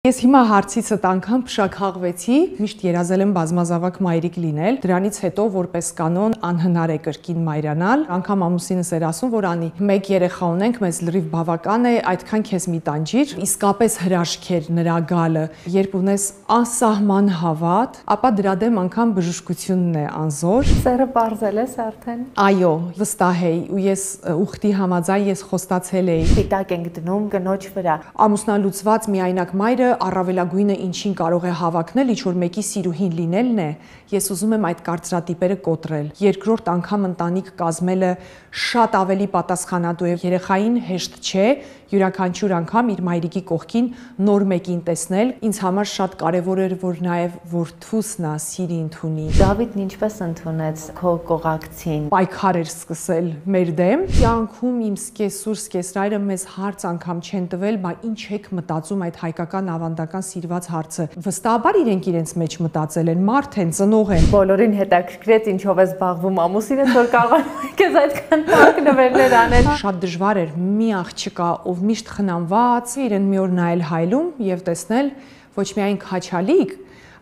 Ես հիմա հարցիցդ անգամ փշաքաղվեցի, միշտ երազել եմ բազմազավակ մայրիկ լինել, դրանից հետո որպես կանոն անհնար է կրկին մայրանալ, անգամ ամուսինս էր ասում, որ անի մեկ երեխա ունենք, մեզ լրիվ բավական է, այդքան քեզ մի տանջիր, իսկապես հրաշք էր նրա գալը, երբ ունես անսահման հավատ, ապա դրա դեմ անգամ բժշկությունն է անզոր։ Սերը պարզել ես արդեն։ Այո, վստահ էի ու ես ուխտի համաձայն ես խոստացել էի։ Պիտակ ենք դնում կնոջ վրա։ Ամուսնալուծված միայնակ մայրը առավելագույնը ինչին կարող է հավակնել, ինչ որ մեկի սիրուհին լինելն է, ես ուզում եմ այդ կարծրատիպերը կոտրել։ Երկրորդ անգամ ընտանիք կազմելը շատ ավելի պատասխանատու է, երեխային հեշտ չէ յուրաքանչյուր անգամ իր մայրիկի կողքին նոր մեկին տեսնել, ինձ համար շատ կարևոր էր, որ նաև որդուս նա սիրի ընդունի։ Դավիթն ինչպես ընդունեց քո կողակցին։ Պայքար էր սկսել մեր դեմ։ Կյանքում իմ սկեսուր սկեսրայրը մեզ հարց անգամ չեն տվել, բա ինչ եք մտածում այդ հայկական ավանդական սիրված հարցը։ Վստահաբար իրենց մեջ մտածել են, մարդ են, ծնող են։ Բոլորին հետաքրքրեց ինչով է զբաղվում ամուսինս, որ կարող է քեզ այդքան տակ նվերներ անել։ Շատ դժվար էր մի աղջկա, ով միշտ խնամված, իրեն մի օր նայել հայլում եւ տեսնել ոչ միայն քաչալիկ,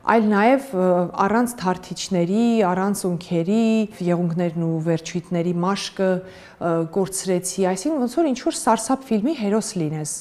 այլ նաև առանց թարթիչների, առանց ունքերի, եղունգներն ու վերջույթների մաշկը կորցրեցի, այսինքն ոնց որ ինչ որ սարսափ ֆիլմի հերոս լինես։